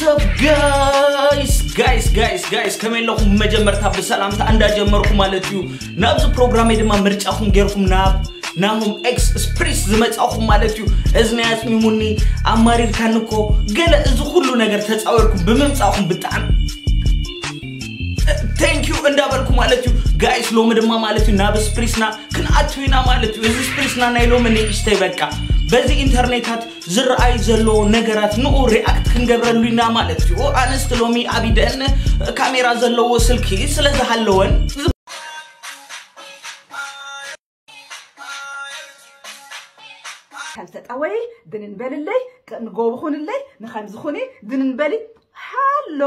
What's up, guys? Guys, guys, guys, ከመይ ኣለኹም? መጀመርታ ብሰላምታ እንዳጀመርኩ ማለት እዩ፣ ናብዚ ፕሮግራመይ ድማ ምርጫኹም ጌርኩም ናብ ናሆም ኤክስ ስፕሪስ ዝመጻኹም ማለት እዩ። እዝኒ ኣጽሚሙኒ፣ ኣማሪርካኒ እኮ፣ ገለ እዚ ኩሉ ነገር ተጻዊርኩም ብምምጻኹም ብጣዕሚ thank you እንዳበልኩ ማለት እዩ። ጋይስ፣ ሎሚ ድማ ማለት እዩ ናብ ስፕሪስና ክንኣቱ ኢና ማለት እዩ። እዚ ስፕሪስና ናይ ሎሚ ንእሽተይ በቃ በዚ ኢንተርኔታት ዝረኣይ ዘሎ ነገራት ንኡ ሪኣክት ክንገብረሉ ኢና ማለት እዩ። ኣነስቲ ሎሚ ኣብ ኢደን ካሜራ ዘለዎ ስልኪ ስለ ዝሃለወን ከም ተጣወይ ድንን በልለይ ንጎብኹንለይ ንኸምዝኹኒ ድንን በሊ ሃሎ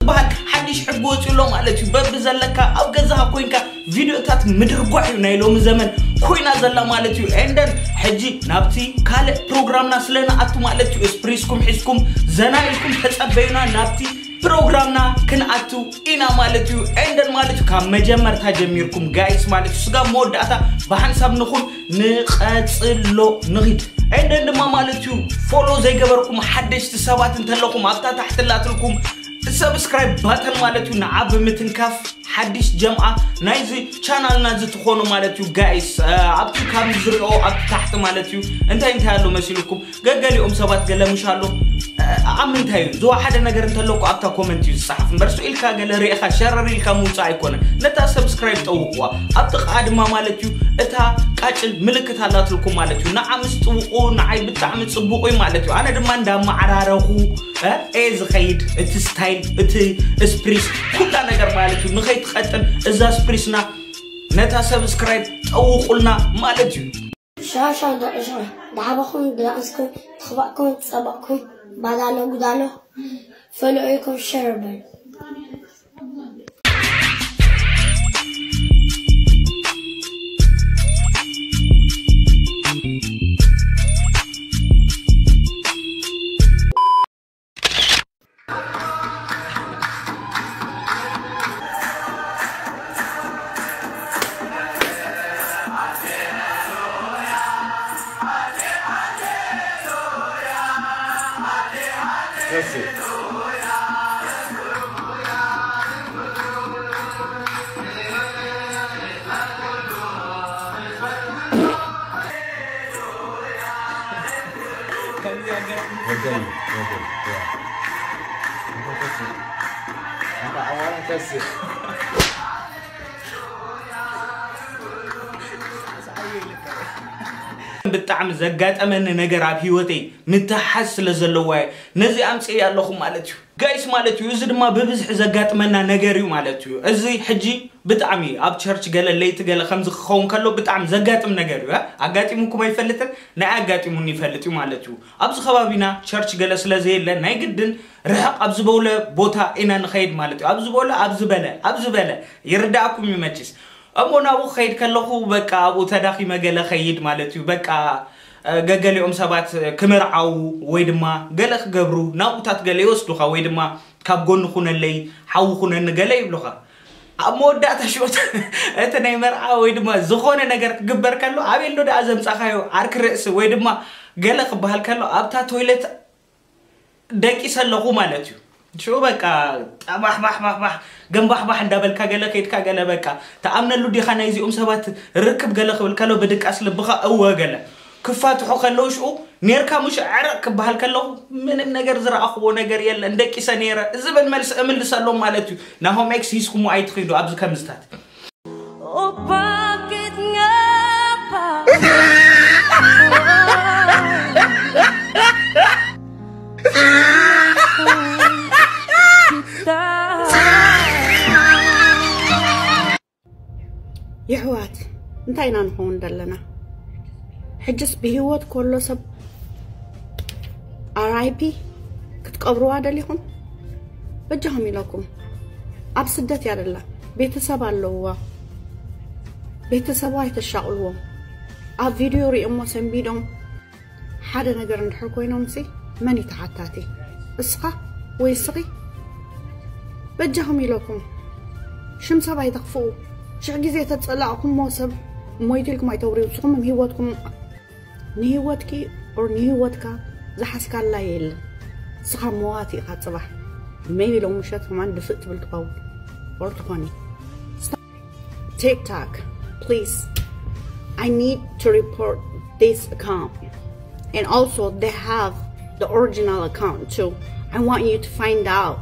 ዝበሃል ሓድሽ ሕጊ ወፂኡ ኣሎ ማለት እዩ። በቢ ዘለካ ኣብ ገዛኻ ኮይንካ ቪድዮታት ምድርጓሕ እዩ ናይ ሎሚ ዘመን ኮይና ዘላ ማለት እዩ። ኤንደን ሕጂ ናብቲ ካልእ ፕሮግራምና ስለ ንኣቱ ማለት እዩ፣ ስፕሪስኩም ሒዝኩም ዘና ኢልኩም ተጸበዩና፣ ናብቲ ፕሮግራምና ክንኣቱ ኢና ማለት እዩ። ኤንደን ማለት እዩ ካብ መጀመርታ ጀሚርኩም ጋይስ ማለት እዩ፣ ስጋብ መወዳእታ ብሓንሳብ ንኹን ንቐጽሎ ንኺድ። ኤንደን ድማ ማለት እዩ ፎሎ ዘይገበርኩም ሓደሽቲ ሰባት እንተለኹም ኣብታ ታሕቲ ላትልኩም ሰብስክራይብ ባተን ማለት እዩ፣ ንዓ ብምትንካፍ ሓድሽ ጀምዓ ናይዚ ቻናልና እዚ ትኾኑ ማለት እዩ ጋይስ። ኣብቲ ካብ ዝሪኦ ኣብቲ ታሕቲ ማለት እዩ እንታይ እንታይ ኣሎ መሲልኩም? ገገሊኦም ሰባት ገለ ምሽ ኣሎ ኣብ ምንታይ እዩ ዝወሓደ ነገር እንተለኩ ኣብታ ኮመንት እዩ ዝፀሓፍ እምበር፣ ስኡ ኢልካ ገለ ሪኢኻ ሸረር ኢልካ ምውፃእ ኣይኮነን። ነታ ሰብስክራይብ ጠውቕዋ። ኣብ ጥቕኣ ድማ ማለት እዩ እታ ቃጭል ምልክት ኣላትልኩም ማለት እዩ። ንዓ ምስ ጥውቑ ንዓይ ብጣዕሚ ፅቡቕ እዩ ማለት እዩ። ኣነ ድማ እንዳመዓራረኹ እ፣ እየ ዝኸይድ። እቲ ስታይል፣ እቲ ስፕሪስ፣ ኩላ ነገር ማለት እዩ ንኸይትቐጥን እዛ ስፕሪስና ነታ ሰብስክራይብ ጠውቑልና ማለት እዩ። ሻሻ ዶ ዕሾ ዳዕባኹም ብላእስኩም ተኽባእኩም ጸባእኩም ባዳሎ ጉዳሎ ፈልዑ ኢልኩም ሸር በሉ። That's it. What day? What day? Yeah. That's it. I want to test it. ብጣዕሚ ዘጋጠመኒ ነገር ኣብ ህይወተይ ምትሓዝ ስለ ዘለዋ እየ ነዚ ኣምፅኤ ኣለኹ ማለት እዩ ጋይስ ማለት እዩ። እዚ ድማ ብብዝሒ ዘጋጥመና ነገር እዩ ማለት እዩ። እዚ ሕጂ ብጣዕሚ ኣብ ቸርች ገለ ለይቲ ገለ ከምዚ ክኸውን ከሎ ብጣዕሚ ዘጋጥም ነገር እዩ። ኣጋጢሙኩም ኣይፈልጥን፣ ናይ ኣጋጢሙኒ ይፈልጥ እዩ ማለት እዩ። ኣብዚ ከባቢና ቸርች ገለ ስለ ዘየለ ናይ ግድን ርሕቕ ኣብ ዝበለ ቦታ ኢና ንኸይድ ማለት እዩ። ኣብ ዝበለ ኣብ ዝበለ ኣብ ዝበለ ይርዳእኩም እዩ መችስ። እሞ ናብኡ ክኸይድ ከለኹ በቃ ኣብኡ ተዳኺመ ገለ ኸይድ ማለት እዩ። በቃ ገገሊኦም ሰባት ክምርዓዉ ወይ ድማ ገለ ክገብሩ ናብኡታት ገለ ይወስዱኻ ወይ ድማ ካብ ጎኒ ኩነለይ ሓዊ ኩነኒ ገለ ይብሉኻ። ኣብ መወዳእታ ሽወት እቲ ናይ መርዓ ወይ ድማ ዝኾነ ነገር ክግበር ከሎ ኣበይ ኣሎ ደኣ ዘምጻኻዮ ዓርኪ ርእሲ ወይ ድማ ገለ ክበሃል ከሎ ኣብታ ቶይለት ደቂሰ ኣለኹ ማለት እዩ። ሽዑ በቃ ጠባሕባሕባሕባሕ ገንባሕባሕ እንዳበልካ ገለ ከይድካ ገለ በቃ ተኣምነሉ ዲኻ ናይዚኦም ሰባት ርክብ ገለ ክብል ከሎ ብድቃስ ልብኻ እወ ገለ ክፋትሑ ከለዉ ሽዑ ኔርካ ምሽ ዕረቕ ክበሃል ከለኹ ምንም ነገር ዝረኣኽዎ ነገር የለን ደቂሰ ኔረ ዝብል መልሲ እምልሰሎም ማለት እዩ። ናሆም ኤክስ ሂዝኩሞ ኣይትኺዱ ኣብዚ ከምዝታት። የሕዋት እንታይ ኢና ንኸውን ዘለና? ሕጅስ ብህይወት ከሎ ሰብ ኣር ኣይ ፒ ክትቀብርዋ ደሊኹም? በጃኹም ኢለኩም ኣብ ስደት እያ ደላ። ቤተሰብ ኣለውዋ። ቤተሰቡ ኣይተሻቕልዎም። ኣብ ቪድዮ ሪኦሞ ሰንቢዶም ሓደ ነገር እንድሕር ኮይኖምሲ መን እዩ ተሓታቲ? እስኻ ወይ እስኺ? በጃኹም ኢለኩም ሽም ሰብ ኣይተኽፍኡ። ሽሕ ግዜ ተጸላእኩሞ ሰብ ሞይቱ ኢልኩም ኣይተውርዩ። ንስኹም ህይወትኩም ንህይወትኪ ኦር ንህይወትካ ዝሓዝካላ የለን። ንስኻ መዋቲ ኢኻ ጽባሕ። Maybe ሎም ምሸት ከማን ድፍእ ትብል ትኸውን። Or ትኾኒ። TikTok, please. I need to report this account. And also, they have the original account too. I want you to find out.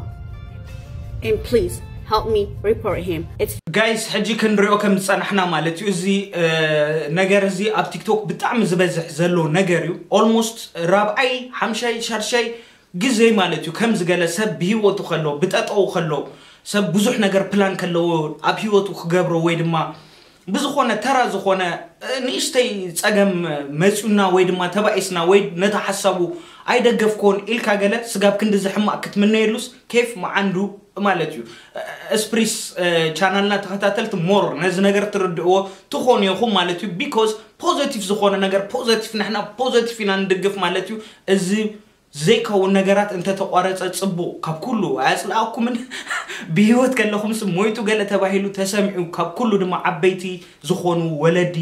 And please, help me report him. It's ጋይስ፣ ሕጂ ክንሪኦ ከም ዝጸናሕና ማለት እዩ። እዚ ነገር እዚ ኣብ ቲክቶክ ብጣዕሚ ዝበዝሕ ዘሎ ነገር እዩ። Almost ራብዓይ ሓምሻይ ሻድሻይ ግዜ ማለት እዩ። ከምዚ ገለ ሰብ ብህይወቱ ከሎ፣ ብጠጠው ከሎ፣ ሰብ ብዙሕ ነገር ፕላን ከለዎ፣ ኣብ ህይወቱ ክገብሮ ወይ ድማ ብዝኾነ ተራ ዝኾነ ንእሽተይ ጸገም መጺኡና ወይ ድማ ተባኢስና ወይ ነታ ሓሳቡ ኣይደገፍኮን ኢልካ ገለ ስጋብ ክንዲ ዝሕማቕ ክትምነየሉስ ኬፍ መዓንዱ ማለት እዩ። ስፕሪስ ቻናልና ተኸታተልቲ ሞር ነዚ ነገር ትርድእዎ ትኾኑ ኢኹም ማለት እዩ። ቢኮዝ ፖዘቲቭ ዝኾነ ነገር ፖዘቲቭ፣ ንሕና ፖዘቲቭ ኢና ንድግፍ ማለት እዩ። እዚ ዘይከውን ነገራት እንተተቋረጸ ጽቡቕ። ካብ ኩሉ ኣያጽልኣኩምን ብህይወት ከለኹምስ ሞይቱ ገለ ተባሂሉ ተሰሚዑ፣ ካብ ኩሉ ድማ ዓበይቲ ዝኾኑ ወለዲ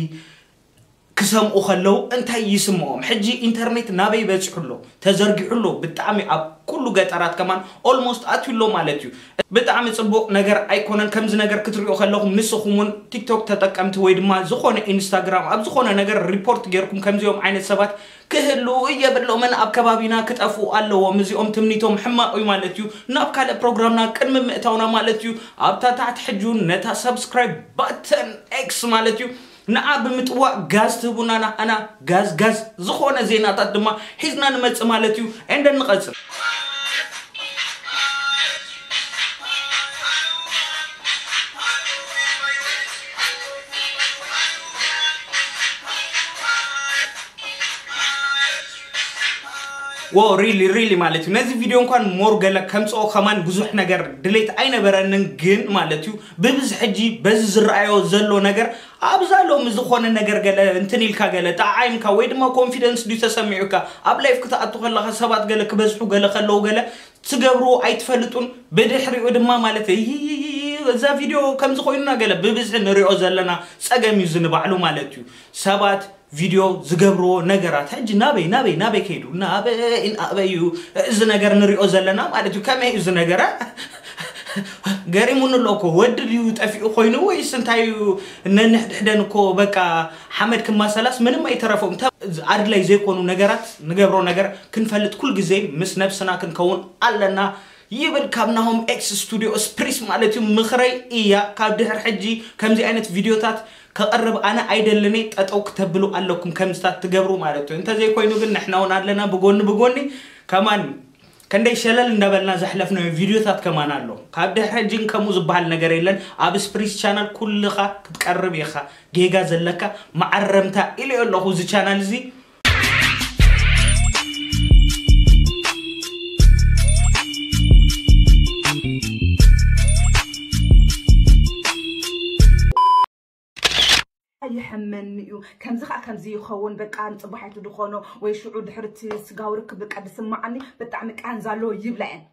ክሰምኡ ከለዉ እንታይ ይስምዖም? ሕጂ ኢንተርኔት ናበይ በጺሑ ኣሎ? ተዘርጊሑ ኣሎ። ብጣዕሚ ኣብ ኩሉ ገጠራት ከማን ኦልሞስት ኣትዩ ኣሎ ማለት እዩ። ብጣዕሚ ጽቡቕ ነገር ኣይኮነን። ከምዚ ነገር ክትሪኦ ከለኹም ንስኹም እውን ቲክቶክ ተጠቀምቲ ወይ ድማ ዝኾነ ኢንስታግራም ኣብ ዝኾነ ነገር ሪፖርት ጌርኩም ከምዚኦም ዓይነት ሰባት ክህሉ የብሎምን፣ ኣብ ከባቢና ክጠፍኡ ኣለዎም። እዚኦም ትምኒቶም ሕማቕ እዩ ማለት እዩ። ናብ ካልእ ፕሮግራምና ቅድሚ ምእታውና ማለት እዩ ኣብታ ታሕቲ ሕጂ እውን ነታ ሳብስክራይብ ባተን ኤክስ ማለት እዩ ንዓ ብምጥዋቕ ጋዝ ትህቡና፣ ንዓና ጋዝ ጋዝ ዝኾነ ዜናታት ድማ ሒዝና ንመጽእ ማለት እዩ። ኤንደ ንቐጽል። ዎ ሪሊ ሪሊ ማለት እዩ። ነዚ ቪድዮ እንኳን ሞር ገለ ከምፅኦ ከማን ብዙሕ ነገር ድሌት ኣይነበረንን፣ ግን ማለት እዩ ብብዝሒ ሕጂ በዚ ዝረኣዮ ዘሎ ነገር ኣብዛ ሎሚ ዝኾነ ነገር ገለ እንትን ኢልካ ገለ ጠዓይምካ ወይ ድማ ኮንፊደንስ ድዩ ተሰሚዑካ ኣብ ላይፍ ክትኣቱ ከለኻ ሰባት ገለ ክበዝሑ ገለ ከለዉ ገለ ትገብርዎ ኣይትፈልጡን። ብድሕሪኡ ድማ ማለት እዩ እዛ ቪድዮ ከምዚ ኮይኑና ገለ ብብዝሒ ንሪኦ ዘለና ፀገም እዩ ዝንባዕሉ ማለት እዩ። ሰባት ቪድዮ ዝገብርዎ ነገራት ሕጂ ናበይ ናበይ ናበይ ከይዱ ናበይ ናበይ እዩ እዚ ነገር ንሪኦ ዘለና ማለት እዩ። ከመይ እዩ እዚ ነገር ገሪሙኒ ኣሎ እኮ። ወዲ ድዩ ጠፊኡ ኮይኑ ወይስ እንታይ እዩ? ነንሕድሕደን እኮ በቃ ሓመድ ክማሰላስ ምንም ኣይተረፎም። ኣድላይ ዘይኮኑ ነገራት ንገብሮ ነገር ክንፈልጥ ኩል ግዜ ምስ ነብስና ክንከውን ኣለና ይብል ካብ ናሆም ኤክስ ስቱዲዮ ስፕሪስ ማለት እዩ። ምኽረይ እያ ካብ ድሕር ሕጂ ከምዚ ዓይነት ቪድዮታት ከቕርብ ኣነ ኣይደልን እየ። ጠጠው ክተብሉ ኣለኩም ከምዚታት ትገብሩ ማለት እዩ። እንተዘይኮይኑ ግን ንሕና እውን ኣለና ብጎኒ ብጎኒ ከማን ከንደይ ሸለል እንዳበልና ዘሕለፍናዮ ቪድዮታት ከማን ኣሎ። ካብ ድሕሪ ሕጂ ግን ከምኡ ዝበሃል ነገር የለን። ኣብ ስፕሪስ ቻናል ኩልኻ ክትቀርብ ኢኻ። ጌጋ ዘለካ መዓረምታ ኢለ ኣለኹ። እዚ ቻናል እዚ ይሕመኒ እዩ። ከምዚ ከዓ ከምዚ ይኸውን በቃ ንፅባሒቱ ድኾኖ ወይ ሽዑ ድሕርቲ ስጋዊ ርክብ በቃ ድስማዓኒ ብጣዕሚ ቃንዛ ኣለዎ ይብላ እየን።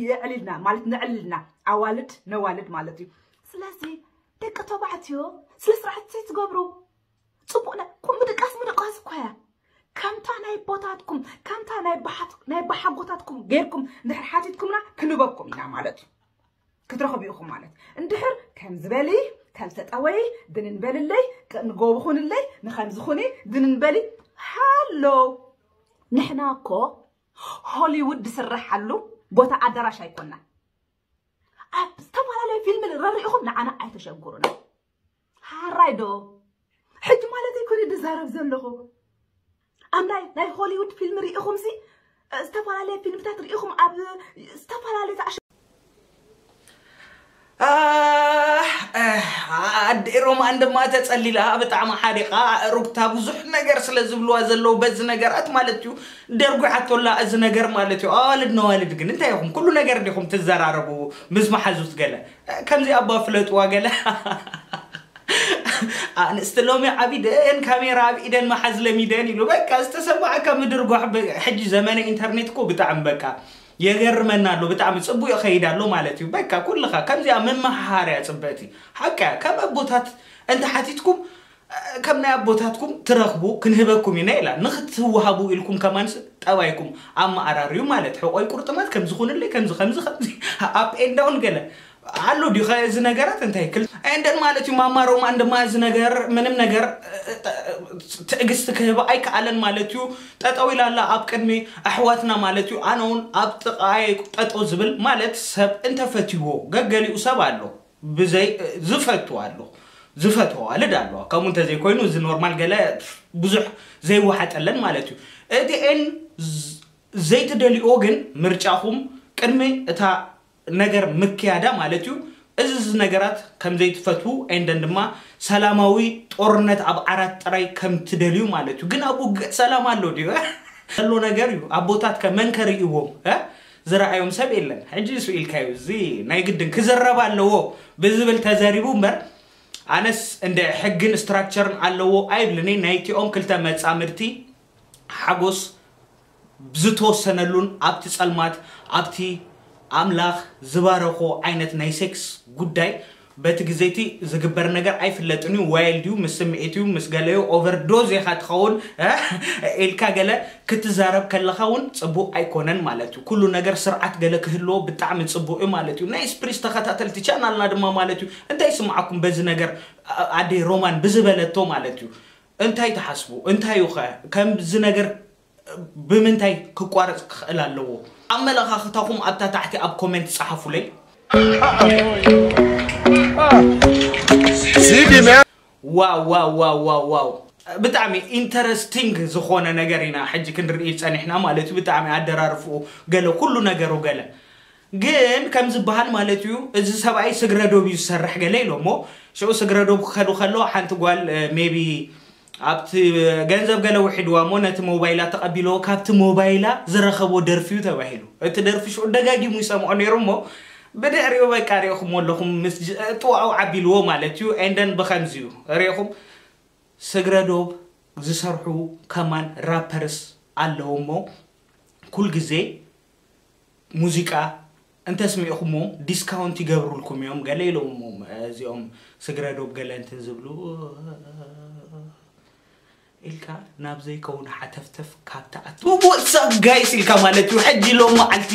የዕልልና ማለት ነዕልልና ኣዋልድ ነዋልድ ማለት እዩ። ስለዚ ደቂ ተባዕትዮ ስነ ስርዓት ትገብሩ ፅቡቅ ነ ኩም ምድቃስ ምድቃስ እኳ እያ። ከምታ ናይ ቦታትኩም ከምታ ናይ ባሓት ናይ ባሓጎታትኩም ጌርኩም እንድሕር ሓቲትኩምና ክንበኩም ኢና ማለት እዩ። ክትረኽቡ ኢኹም ማለት እንድሕር ከም ዝበሊ ከም ተጠወይ ድንን በልለይ ንጎብኹንለይ ንኸምዝኹኒ ድንን በሊ ሃሎ። ንሕና እኮ ሆሊውድ ዝስረሓሉ ቦታ ኣዳራሽ ኣይኮና። ኣብ ዝተፈላለዩ ፊልም ረሪእኹም ንዓና ኣይተሸግሩና። ሓራይ ዶ ሕጂ ማለት ኣይኮነ ድዛረብ ዘለኹ። ኣብ ናይ ናይ ሆሊውድ ፊልም ርኢኹም ሲ ዝተፈላለየ ፊልምታት ርኢኹም ኣብ ዝተፈላለየ ተኣሽ ኣዴ ሮማን ድማ ተጸሊላ ብጣዕሚ ሓሪቓ ሩግታ ብዙሕ ነገር ስለ ዝብልዋ ዘለዉ በዚ ነገራት ማለት እዩ። ደርጒሓቶላ እዚ ነገር ማለት እዩ። ኣዋልድ ነዋልድ ግን እንታይ ኢኹም ኩሉ ነገር ዲኹም ትዘራረቡ ምስ መሓዙት ገለ ከምዚ ኣባ ፍለጥዋ ገለ ኣንስቲ ሎሚ ዓቢደን ካሜራ ኣብ ኢደን መሓዝ ለሚደን ኢሉ በቃ ዝተሰማዕካ ምድርጓሕ። ሕጂ ዘመነ ኢንተርኔት እኮ ብጣዕሚ በቃ የገርመና ኣሎ። ብጣዕሚ ጽቡቅ ይኸይድ ኣሎ ማለት እዩ። በቃ ኩልኻ ከምዚኣ መመሃሃርያ ጽበቲ ሓቃ ካብ ኣቦታት እንተ ሓቲትኩም ከም ናይ ኣቦታትኩም ትረኽቡ ክንህበኩም ኢና ኢላ። ንክትወሃቡ ኢልኩም ከማንስ ጠባይኩም ኣመኣራርዩ ማለት ሕቆይ ቁርጥማት ከምዚ ኩንለይ ከምዚ ከምዚ ከምዚ up and down ገለ ኣሎ ድዩ? ከ እዚ ነገራት እንታይ ክል-፣ and then ማለት እዩ ማማ ሮማን ድማ እዚ ነገር ምንም ነገር ትዕግስቲ ክህብ ኣይከኣለን ማለት እዩ። ጠጠው ኢላላ ኣብ ቅድሚ ኣሕዋትና ማለት እዩ። ኣነ እውን ኣብ ጥቓይ ጠጠው ዝብል ማለት ሰብ እንተፈትይዎ ገገሊኡ ሰብ ኣሎ ብዘይ ዝፈቱ ኣሎ ዝፈትዎ ኣልድ ኣለዋ። ከምኡ እንተዘይኮይኑ እዚ ኖርማል ገለ ብዙሕ ዘይወሓጠለን ማለት እዩ። እቲኤን ዘይትደልዮ ግን ምርጫኹም ቅድሚ እታ ነገር ምክያዳ ማለት እዩ። እዚ እዚ ነገራት ከም ዘይትፈትዉ ኤንደን ድማ ሰላማዊ ጦርነት ኣብ ዓራት ጥራይ ከም ትደልዩ ማለት እዩ። ግን ኣብ ውግእ ሰላም ኣሎ ድዩ? ዘሎ ነገር እዩ። ኣቦታት ከ መን ከርእይዎም እ? ዝረኣዮም ሰብ የለን። ሕጂ እሱ ኢልካዩ እዚ ናይ ግድን ክዝረብ ኣለዎ ብዝብል ተዘሪቡ እምበር ኣነስ እንደ ሕግን ስትራክቸርን ኣለዎ ኣይብልኒ። ናይቲኦም ክልተ መጻምድቲ ሓጎስ ዝተወሰነሉን ኣብቲ ጸልማት ኣብቲ ኣምላኽ ዝባረኾ ዓይነት ናይ ሴክስ ጉዳይ በቲ ግዜቲ ዝግበር ነገር ኣይፍለጥን እዩ። ዋይልድ እዩ፣ ምስ ስምዒት እዩ፣ ምስ ገለዩ ኦቨርዶዝ ኢኻ ትኸውን ኢልካ ገለ ክትዛረብ ከለኻ እውን ጽቡቕ ኣይኮነን ማለት እዩ። ኩሉ ነገር ስርዓት ገለ ክህልዎ ብጣዕሚ ጽቡቕ እዩ ማለት እዩ። ናይ ስፕሪስ ተኸታተልቲ ቻናልና ድማ ማለት እዩ እንታይ ይስምዓኩም በዚ ነገር ኣደይ ሮማን ብዝበለቶ ማለት እዩ? እንታይ ትሓስቡ? እንታይ እዩ ኸ ከምዚ ነገር ብምንታይ ክቋረጽ ክኽእል ኣለዎ? ኣመለኻኽታኹም ኣብታ ታሕቲ ኣብ ኮሜንት ጸሓፉለይ። See the man. ዋው ዋው ዋው ዋው ዋው ብጣዕሚ ኢንተረስቲንግ ዝኾነ ነገር ኢና ሕጂ ክንርኢ ጸኒሕና ማለት እዩ። ብጣዕሚ ኣደራርፍኡ ገለ ኩሉ ነገሩ ገለ ግን ከም ዝበሃል ማለት እዩ እዚ ሰብኣይ ስግረ ዶብ እዩ ዝሰርሕ ገለ ኢሎሞ ሽዑ ስግረ ዶብ ክኸዱ ከለዋ ሓንቲ ጓል ሜቢ ኣብቲ ገንዘብ ገለ ውሒድዋ እሞ ነቲ ሞባይላ ተቐቢልዎ ካብቲ ሞባይላ ዝረኸቦ ደርፊ እዩ ተባሂሉ። እቲ ደርፊ ሽዑ ደጋጊሙ ይሰምዖ ነይሩ እሞ ብድሕሪኡ በቃ ሪእኹም ኣለኹም ምስ ጅ- ጥዋኡ ዓቢልዎ ማለት እዩ። ኤንደን ብኸምዚ እዩ ሪእኹም ስግረ ዶብ ዝሰርሑ ከማን ራፐርስ ኣለዉ እሞ ኩል ግዜ ሙዚቃ እንተስሚዕኹምዎም ዲስካውንት ይገብሩልኩም እዮም ገለ ኢሎምዎም እዚኦም ስግረ ዶብ ገለ እንትን ዝብሉ ኢልካ ናብ ዘይከውን ሓተፍተፍ ካብ ትኣቱ። What's up guys ኢልካ ማለት እዩ። ሕጂ ሎም መዓልቲ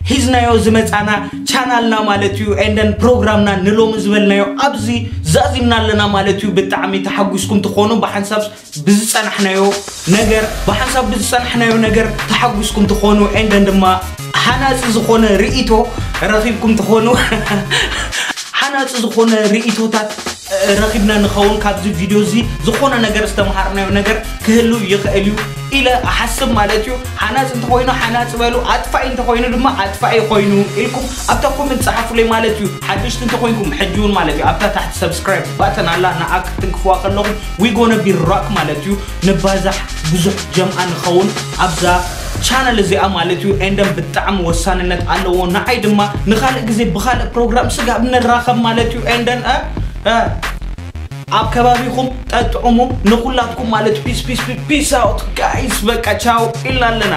ሒዝናዮ ዝመጻና ቻናልና ማለት እዩ ኤንደን ፕሮግራምና ንሎሚ ዝበልናዮ ኣብዚ ዛዚምና ኣለና ማለት እዩ። ብጣዕሚ ተሓጒስኩም ትኾኑ ብሓንሳብ ብዝጸናሕናዮ ነገር ብሓንሳብ ብዝጸናሕናዮ ነገር ተሓጒስኩም ትኾኑ ኤንደን ድማ ሓናጺ ዝኾነ ርእይቶ ረኺብኩም ትኾኑ ሓናጺ ዝኾነ ርእይቶታት ረኺብና ንኸውን ካብዚ ቪድዮ እዚ ዝኾነ ነገር ዝተምሃርናዮ ነገር ክህሉ ይኽእል እዩ ኢለ እሓስብ ማለት እዩ። ሓናጺ እንተኾይኑ ሓናጺ በሉ፣ ኣጥፋኢ እንተኾይኑ ድማ ኣጥፋኢ ኮይኑ ኢልኩም ኣብታ ኮመንት ጸሓፉለይ ማለት እዩ። ሓደሽቲ እንተኾይንኩም ሕጂ እውን ማለት እዩ ኣብታ ታሕቲ ሰብስክራይብ ባተን ኣላ ንኣ ክትንክፍዋ ከለኹም we gonna be rock ማለት እዩ። ንባዛሕ ብዙሕ ጀምዓ ንኸውን ኣብዛ ቻነል እዚኣ ማለት እዩ። ኤንደን ብጣዕሚ ወሳንነት ኣለዎ ንዓይ ድማ ንኻልእ ግዜ ብኻልእ ፕሮግራም ስጋብ ንራኸብ ማለት እዩ። ኤንደን እ እ ኣብ ከባቢኹም ጠጥዑሙ ንኹላትኩም ማለት ፒስ ፒስ ፒስ ኣውት ጋይስ በቃ ቻው ኢልና ኣለና።